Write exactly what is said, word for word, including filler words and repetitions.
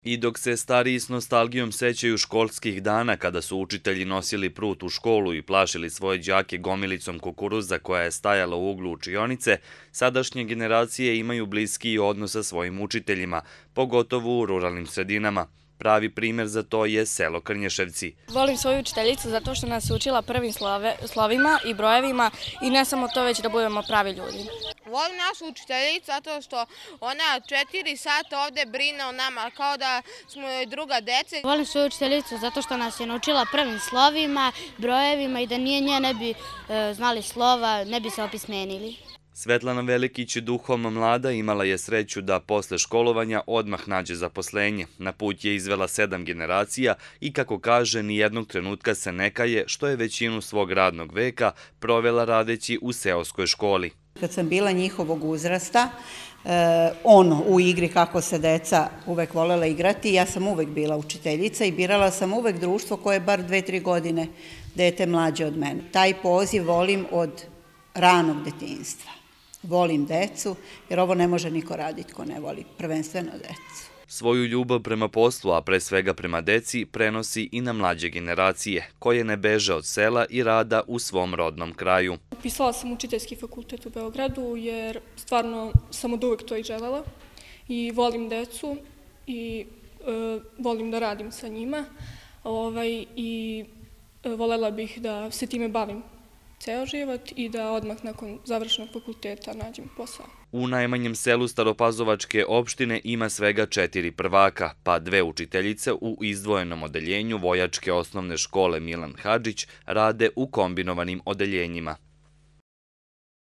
I dok se stariji s nostalgijom sećaju školskih dana kada su učitelji nosili prut u školu i plašili svoje đake gomilicom kukuruza koja je stajala u uglu učionice, sadašnje generacije imaju bliskiji odnos sa svojim učiteljima, pogotovo u ruralnim sredinama. Pravi primjer za to je selo Krnješevci. Volim svoju učiteljicu zato što nas je učila prvim slovima i brojevima i ne samo to, već da budemo pravi ljudi. Volim našu učiteljicu zato što ona četiri sata ovde brine o nama kao da smo joj druga deca. Volim svoju učiteljicu zato što nas je naučila prvim slovima, brojevima i da nije nje ne bi znali slova, ne bi se opismenili. Svetlana Velikić, duhom mlada, imala je sreću da posle školovanja odmah nađe zaposlenje. Na put je izvela sedam generacija i, kako kaže, nijednog trenutka se ne kaje što je većinu svog radnog veka provela radeći u seoskoj školi. Kad sam bila njihovog uzrasta, ono u igri kako se deca uvek volela igrati, ja sam uvek bila učiteljica i birala sam uvek društvo koje je bar dve, tri godine dete mlađe od mene. Taj poziv volim od ranog detinjstva. Volim decu, jer ovo ne može niko raditi ko ne voli, prvenstveno decu. Svoju ljubav prema poslu, a pre svega prema deci, prenosi i na mlađe generacije, koje ne beže od sela i rada u svom rodnom kraju. Upisala sam učiteljski fakultet u Beogradu jer stvarno sam od uvek to i želela i volim decu i volim da radim sa njima i volela bih da se time bavim ceo život i da odmah nakon završenog fakulteta nađem posao. U najmanjem selu Staropazovačke opštine ima svega četiri prvaka, pa dve učiteljice u izdvojenom odeljenju Vojačke osnovne škole Milan Hadžić rade u kombinovanim odeljenjima.